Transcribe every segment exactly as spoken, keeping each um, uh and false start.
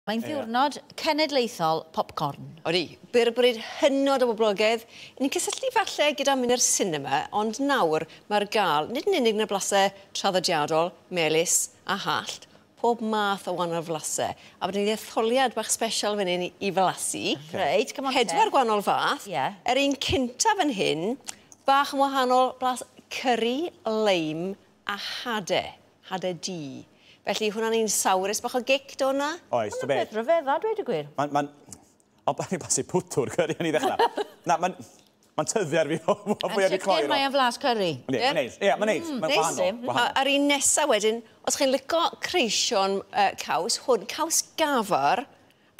Mae'n ddiwrnod cenedlaethol popcorn. Odi, byrbryd hynod o boblogaidd. Ni'n cysylltu falle gyda mynd i'r cinema, ond nawr mae'r gael, nid yn unig yn y blasau traddodiadol, melys a hallt, pob math o wahanol flasau. A bod ni'n etholiad bach special fan hyn i flasu. Okay. Reit, come on. Pedwar gwahanol fath. Yeah. Yr un cyntaf fan hyn, bach yn wahanol blas curry, lime a hade, hade du. Felly hwnna'n un sawrus bach o gic, do hwnna? Oes, to beth. Mae'n rhyfedd, a dweud y gwir. Mae'n... Ma o, ni'n blasu pwtwr curry yn ei ddechrau. Na, mae'n... Mae'n tyfu ar fi o fwy ar fi cloi. Yn sicr mae'n flas curry. Ie, mae'n neis. Ie, mae'n neis. Mae'n wahanol. A'r un nesaf wedyn, os chi'n licio creision uh, caws, hwn, caws gafar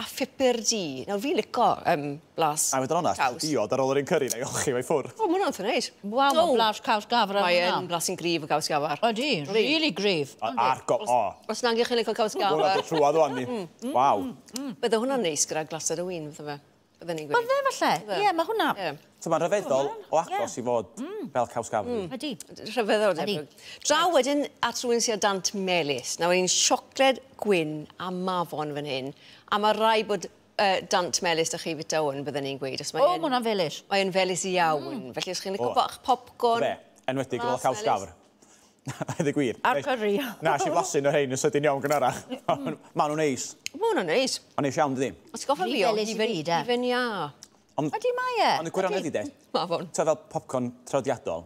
a phupur du. Nawr, fi'n licio um, blas A fod yn onast, diod ar ôl yr un curry na i olchi fe i ffwrdd. O, mae hwnna'n eitha neis. Waw, mae'n blas caws gafar ar hwnna. Mae'n blasu'n gryf o gaws gafar. Ydy, really gryf. A'r go, o. Os nag ych chi'n licio caws gafar. Hwnna'n dod trwadd o'n ni. Waw. Bydde hwnna'n neis gyda glased o win, fydde fe. Bydde ni'n gweud. Bydde falle. Ie, mae hwnna. So mae'n rhyfeddol o agos i fod fel caws gafar. Ydy. Rhyfeddol, debyg. Draw wedyn at rhywun sydd â dant melys. Nawr, un siocled gwyn a mafon fan hyn. A mae rai bod uh, dant melys da chi fita hwn, bydden ni'n gweud. O, mae hwnna'n felys. Mae'n felys iawn. Mm. Felly, os chi'n licio bach popcorn... Fe, enwedig gyda caws gafr. A dweud gwir. A'r curry. Na, si blasu'n o'r rhein yn sydyn iawn gynharach. Maen nhw'n neis. Mae hwnna'n neis. Mae'n neis iawn, dydi? Os goffa fi o, hufen iâ. Ydy mae e. Ond y gwirionedd i de, Mafon. Ta fel popcorn traddodiadol,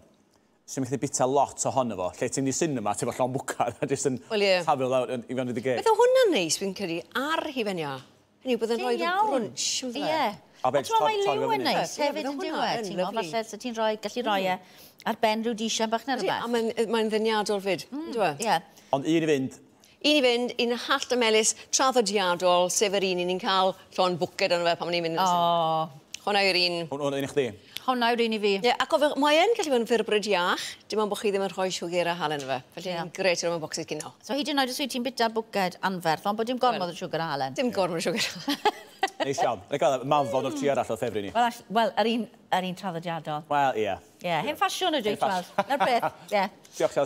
sy'n mynd i bita lot ohono fo, lle ti'n mynd i cinema, ti'n fo llond bwcad, a jyst yn taflu lawr i fewn i dy geg. Beth o hwnna'n neis, fi'n credu, ar hufen iâ. Hynny yw, bydd yn rhoi rhyw grunch. Ie. A ti'n meddwl, mae liw yn neis hefyd yn diwedd, ti'n meddwl, falle so ti'n rhoi, gallu rhoi e ar ben rhyw disiau bach neu rhywbeth. A mae'n ddeniadol fyd, yndyw e? Ie. Ond un i fynd. Un i fynd, un hallt a melys traddodiadol, sef yr un i ni'n cael llond bwced arno fe pan ni'n mynd. O. Hwna yw'r un... Hwna un i chdi? Hwna yw'r un i fi. Ie, ac o, mae yn gallu bod yn fyrbryd iach, dim ond bod chi ddim yn rhoi siwgr a halen efo. Felly yn grêt i roi mewn bocsys cinio. So hyd yn oed os wyt ti'n bita bwced anferth, ond bod dim gormod o siwgr a halen. Dim gormod o siwgr. Neis iawn. Neu gael mafon o'r tri arall o'r ffefryn ni. Wel, wel, yr un, yr un traddodiadol. Wel, ie. Ie, hen ffasiwn ydw i, tweld. Na'r peth, ie. Diolch, Chelsea.